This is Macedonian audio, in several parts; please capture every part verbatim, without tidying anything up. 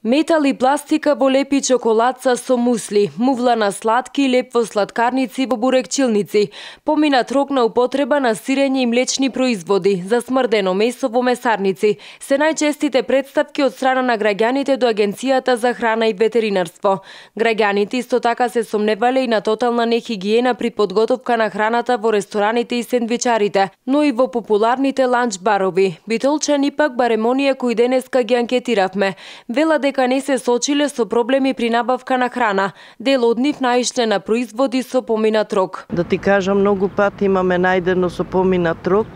Метал и пластика во лепи чоколадца со мусли, мувла на сладки и леп во сладкарници во бурекчилници, поминат рок на употреба на сирење и млечни производи, засмрдено месо во месарници, се најчестите представки од страна на граѓаните до Агенцијата за храна и ветеринарство. Граѓаните исто така се сомневале и на тотална нехигиена при подготовка на храната во рестораните и сендвичарите, но и во популарните ланч барови. Битолчани пак барем оние кои денеска ги анкетиравме, велат дека не се сочиле со проблеми при набавка на храна. Дел од нив наишле на производи со поминат рок. Да ти кажам, многу пати имаме најдено со поминат рок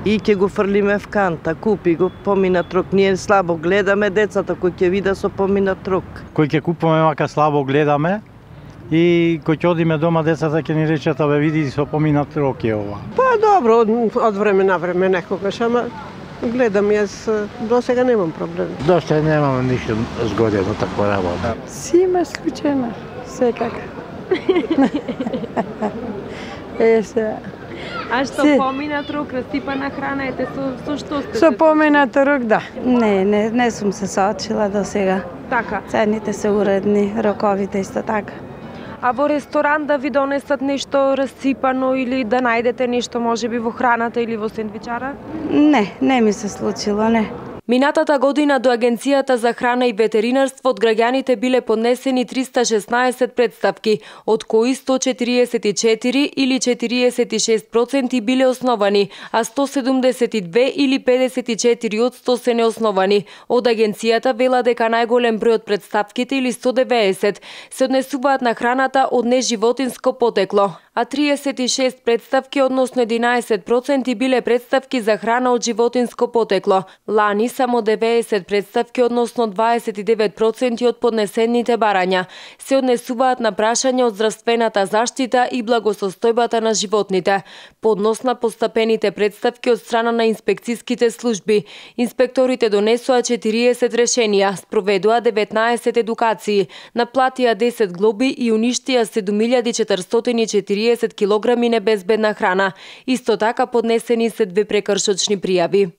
и ќе го фрлиме в канта, купи го поминат рок. Ние слабо гледаме децата кои ќе видат со поминат рок. Кој ќе купуваме мака слабо гледаме и кој ќе одиме дома децата ќе ни речат абе види со поминат рок е ова. Па добро, од, од време на време некогаш, ама гледам јас, до сега немам проблем. До сега немам ништо згодено таква работа. Си има случајно, секако. Е, се. А што Си... поминат рок, расипана храна, ете со, со што сте? Со поминат рок, да. Не, не, не сум се соочила до сега. Така. Цените се уредни, роковите исто така. А во ресторан да ви донесат нешто расипано или да најдете нешто можеби во храната или во сендвичара? Не, не ми се случило, не. Минатата година до Агенцијата за храна и ветеринарство од граѓаните биле поднесени триста шеснаесет претставки, од кои сто четириесет и четири или четириесет и шест проценти биле основани, а сто седумдесет и две или педесет и четири од сто се неосновани. Од Агенцијата вела дека најголем број од претставките или сто деветдесет се однесуваат на храната од неживотинско потекло, а триесет и шест претставки, односно единаесет проценти биле претставки за храна од животинско потекло. Лани само деветдесет претставки, односно дваесет и девет проценти од поднесените барања, се однесуваат на прашања од здравствената заштита и благосостојбата на животните. Поднос на постапените претставки од страна на инспекциските служби. Инспекторите донесоа четириесет решенија, спроведоа деветнаесет едукации, наплатија десет глоби и уништија седум илјади четиристотини и четириесет килограми небезбедна храна. Исто така поднесени се две прекршочни пријави.